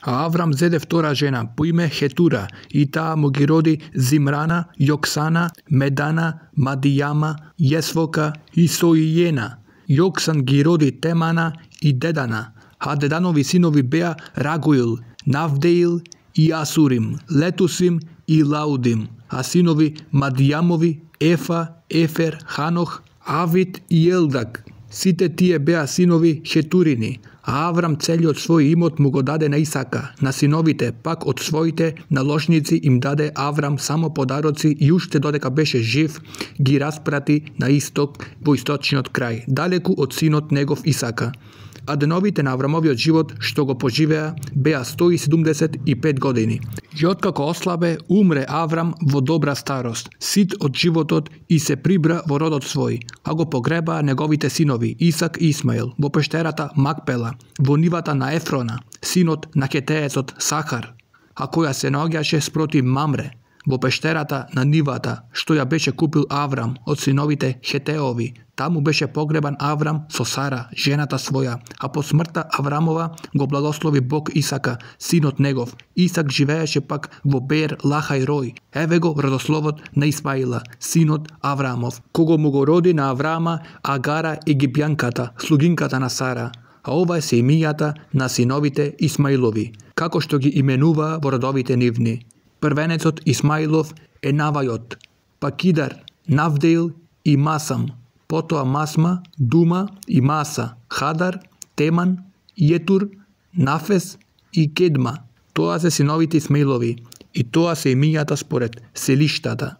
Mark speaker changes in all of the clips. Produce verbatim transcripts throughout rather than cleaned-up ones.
Speaker 1: А Аврам зеде втора жена по име Хетура и таа му ги роди Зимрана, Јоксана, Медана, Мадијама, Јесвока и Соијена. Јоксан ги роди Темана и Дедана, а Деданови синови беа Рагуил, Навдеил и Асурим, Летусим и Лаудим, а синови Мадијамови Ефа, Ефер, Ханох, Авид и Елдак. Сите тие беа синови Хетурини, а Аврам целиот свој имот му го даде на Исака, на синовите пак од своите наложници им даде Аврам само подароци и уште додека беше жив ги распрати на исток во источниот крај, далеку од синот негов Исака. А деновите на Аврамовиот живот што го поживеа беа сто и седумдесет и пет години. И откако ослабе, умре Аврам во добра старост, сит од животот и се прибра во родот свој, а го погребаа неговите синови Исак и Исмаил во пештерата Макпела, во нивата на Ефрона, синот на хетеецот Сахар, а која се наоѓаше спроти Мамре, во пештерата на нивата што ја беше купил Аврам од синовите Хетеови. Таму беше погребан Аврам со Сара, жената своја, а по смртта Аврамова го благослови Бог Исака, синот негов. Исак живееше пак во Беер Лахај Рој. Еве го родословот на Исмаила, синот Аврамов, кого му го роди на Аврама Агара египјанката, слугинката на Сара. А ова се имињата на синовите Исмаилови, како што ги именуваа во родовите нивни. Првенецот Исмаилов е Навајот, па Кидар, Навдеил и Масам, потоа Масма, Дума и Маса, Хадар, Теман, Јетур, Нафес и Кедма. Тоа се синовите Исмаилови и тоа се имињата според селиштата,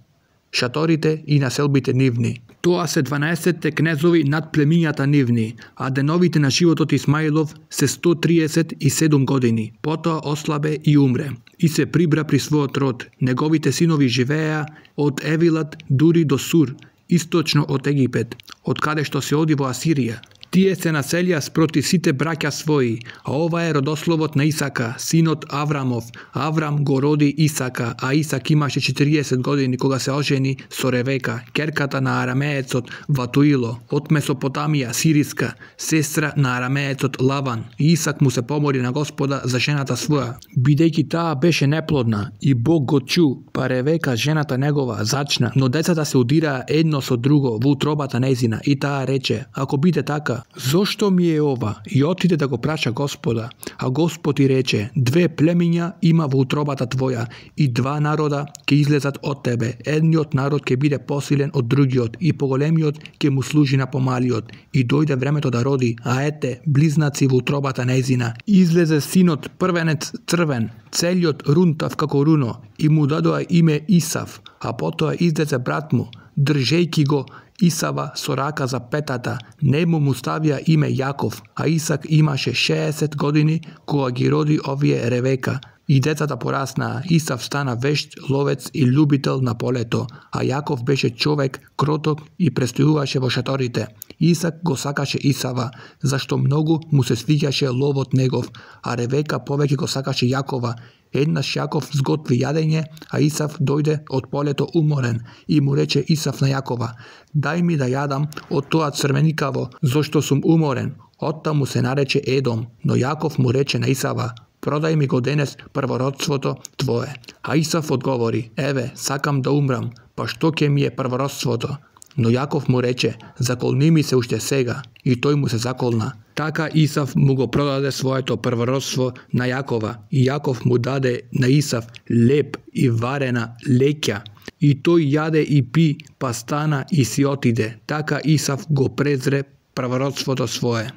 Speaker 1: шаторите и населбите нивни. Тоа се дванаесетте кнезови над племињата нивни, а деновите на животот Исмаилов се сто триесет и седум години. Потоа ослабе и умре и се прибра при својот род. Неговите синови живееа од Евилат дури до Сур, источно од Египет, од каде што се оди во Асирија. Тие се населија спроти сите браќа своји, а ова е родословот на Исака, синот Аврамов. Аврам го роди Исака, а Исак имаше четириесет години кога се ожени со Ревека, керката на арамеецот Ватуило, од Месопотамија, Сириска, сестра на арамеецот Лаван. И Исак му се помоли на Господа за жената своја, бидејќи таа беше неплодна, и Бог го чу, па Ревека, жената негова, зачна, но децата се удираа едно со друго во утробата нејзина, и таа рече: ако биде така, зошто ми е ова? И отиде да го праша Господа. А Господ и рече: две племиња има во утробата твоја и два народа ќе излезат од тебе. Едниот народ ќе биде посилен од другиот и поголемиот ќе му служи на помалиот. И дојде времето да роди, а ете, близнаци во утробата нејзина. Излезе синот првенец црвен, целиот рунтав како руно, и му дадоа име Исав, а потоа излезе брат му, држејќи го Исава со рака за петата, нему му ставија име Јаков, а Исак имаше шеесет години кога ги роди овие Ревека. И децата пораснаа. Исав стана вешт, ловец и љубител на полето, а Јаков беше човек кроток и престојуваше во шаторите. Исак го сакаше Исава, зашто многу му се свиѓаше ловот негов, а Ревека повеќе го сакаше Јакова. Еднаш Јаков зготви јадење, а Исав дојде од полето уморен и му рече Исав на Јакова: дај ми да јадам од тоа црвеникаво, зашто сум уморен. Оттаму се нарече Едом, но Јаков му рече на Исава: продај ми го денес првородството твое. А Исав одговори: еве, сакам да умрам, па што ќе ми е првородството? Но Јаков му рече: заколни ми се уште сега. И тој му се заколна. Така Исав му го продаде своето првородство на Јакова, и Јаков му даде на Исав леб и варена леќа. И тој јаде и пи, па стана и си отиде. Така Исав го презре првородството свое.